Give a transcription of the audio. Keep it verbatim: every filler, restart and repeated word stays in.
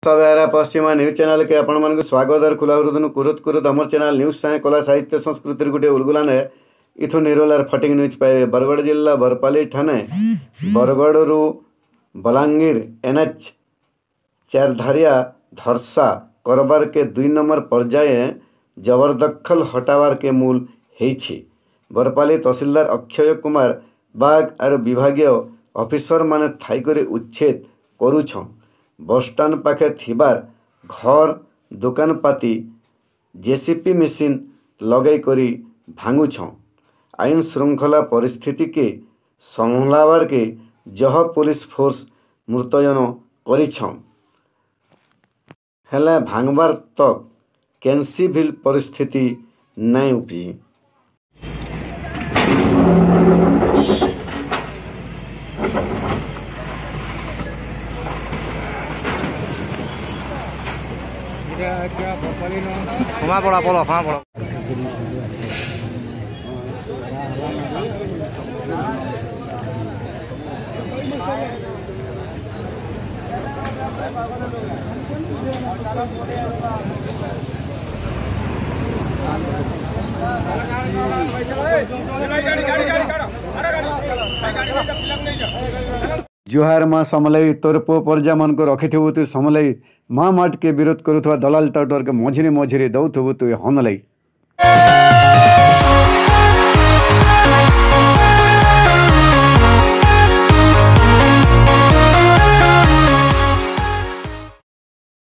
ସବେରା ପଶ୍ଚିମା ନ୍ୟୁଜ୍ ଚ୍ୟାନେଲ୍କେ ଆପଣମାନଙ୍କୁ ସ୍ୱାଗତ ଆର୍ ଖୁଲା ହୃଦନୁ କୁରୁତ କୁରୁତ। ଆମର ଚ୍ୟାନେଲ୍ ନ୍ୟୁଜ୍ ସାଙ୍ଗେ କଲା, ସାହିତ୍ୟ, ସଂସ୍କୃତିର ଗୋଟେ ଉଲଗୁଲାନେ ଇଥୁ ନିରୋଲାର ଫଟିଂ ନ୍ୟୁଜ୍ ପାଇବେ। ବରଗଡ଼ ଜିଲ୍ଲା ବରପାଲି ଠାନେ ବରଗଡ଼ରୁ ବଲାଙ୍ଗୀର ଏନ୍ଏଚ୍ ଚାରଧାରିଆ ଧର୍ସା କରବାରକେ ଦୁଇ ନମ୍ବର ପର୍ଯ୍ୟାୟ ଜବରଦଖଲ ହଟାବାରକେ ମୂଲ ହେଇଛି। ବରପାଲି ତହସିଲଦାର ଅକ୍ଷୟ କୁମାର ବାଗ ଆରୁ ବିଭାଗୀୟ ଅଫିସରମାନେ ଥାଇକରି ଉଚ୍ଛେଦ କରୁଛନ୍। ବସଷ୍ଟାଣ୍ଡ ପାଖେ ଥିବାର ଘର, ଦୋକାନପାତି ଜେସିପି ମେସିନ୍ ଲଗେଇ କରି ଭାଙ୍ଗୁଛନ୍। ଆଇନ ଶୃଙ୍ଖଳା ପରିସ୍ଥିତିକେ ସମ୍ଭଲାବାରକେ ଜହ ପୋଲିସ ଫୋର୍ସ ମୁତୟନ କରିଛନ୍, ହେଲେ ଭାଙ୍ଗବାର୍ ତକ୍ କେନ୍ସି ଭିଲ୍ ପରିସ୍ଥିତି ନାଇଁ ଉପଜି। ক্ষমা পড়া বলো, ক্ষমা পড়া। ଜୁହାର ମା ସମଲେଇ, ତୋର ପୁଅ ପରଜାମାନଙ୍କୁ ରଖିଥିବୁ ତୁ ସମଲେଇ। ମା ମାଟକେ ବିରୋଧ କରୁଥିବା ଦଲାଲ ଟାଉଟରକେ ମଝିରେ ମଝିରେ ଦଉଥିବୁ ତୁ ହନଲେଇ।